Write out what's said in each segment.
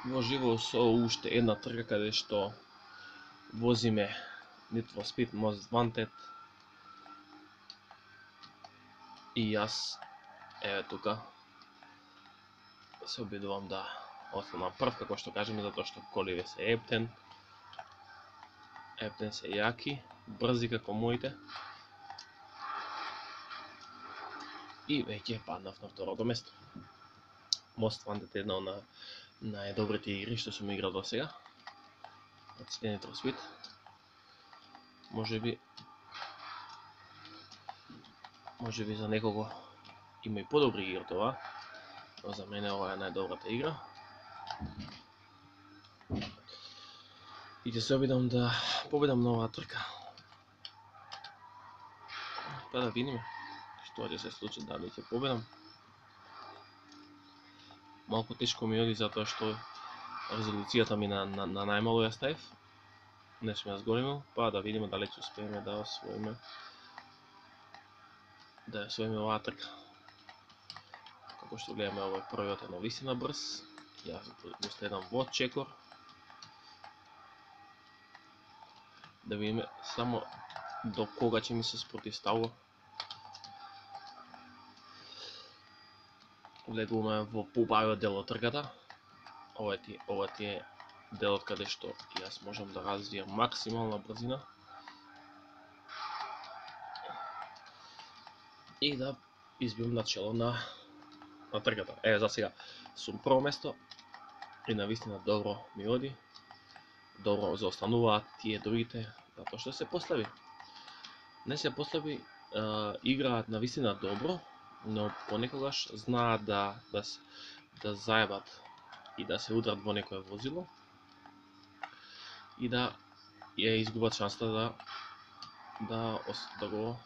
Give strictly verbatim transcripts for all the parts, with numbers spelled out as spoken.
во живо со уште една трка каде што возиме Need for Speed Most Wanted. И јас, еве тука, се обидувам да останам прв, како што кажеме, затоа што коливе се ептен. Ептен се јаки, брзи како моите. И веќе паднав на второто место. Most Wanted е една од најдобрите игри што сум играл до сега. Од сите Need for Speed. Може би Може би за некого има и подобри игри од ова, но за мене ова е најдобрата игра. И ќе се обидам да победам на оваа трка. Па да видиме што ќе се случи, дали ќе победам. Малку тешко ми оди затоа што резолуцијата ми на, на, на најмало ја ставив. Не сум ја зголемил, па да видиме дали ќе успееме да освоиме да освоиме оваа трка. Како што гледаме, овој првиот е навистина брз. Јас го следам во чекор. Да видиме само до кога ќе ми се спротивставува. Влегуваме во побавиот дел од трката. Ова ти, ова ти е делот каде што јас можам да развијам максимална брзина и да избиам начело на, на трката. Е, за сега сум прво место и навистина добро ми оди. Добро заостануваат тие другите, затоа што се послаби. Не се послаби, играат навистина добро, но понекогаш знаат да, да, да заебат и да се удрат во некое возило и да ја изгубат шанста да да, да го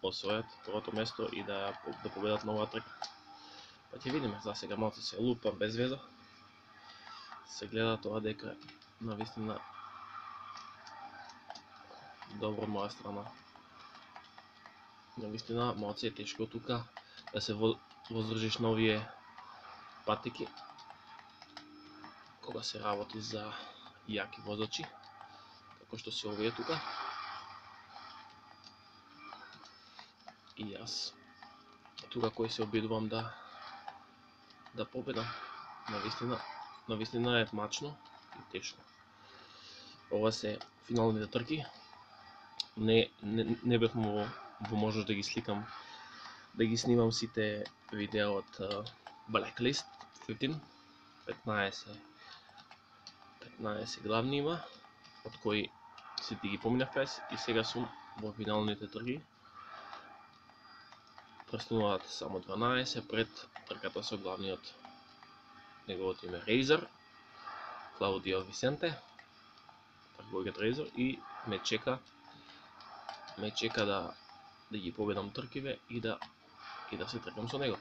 освојат првото место и да, да победат на оваа трка. Па ќе видиме, за сега малку се лупам без веза. Се гледа тоа дека навистина добро од моја страна. Навистина малку е тешко тука да се воздржиш на овие патики кога се работи за јаки возачи, како што се овие тука. И јас тука кој се обидувам да да победам. Навистина, навистина е мачно и тешко. Ова се финалните трки. Не не, не бев во, во можност да ги сликам, да ги снимам сите видеа од uh, Blacklist петнаесет. петнаесет петнаесет главни има, од кои сите ги поминав пес и сега сум во финалните трки. Престануваат само дванаесет пред трката со главниот. Неговото име Рейзер, Клаудио Висенте, трговикот Рейзер, и ме чека ме чека да да ги победам тркиве и да и да се тркам со него.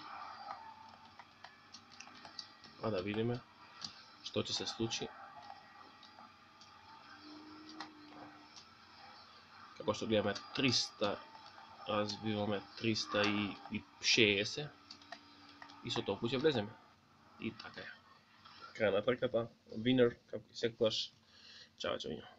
Па да видиме што ќе се случи. Како што гледаме триста, развиваме триста и шеесет и со толку ќе влеземе. И така е. Крај на трката, winner, како и секогаш. Чао, чао.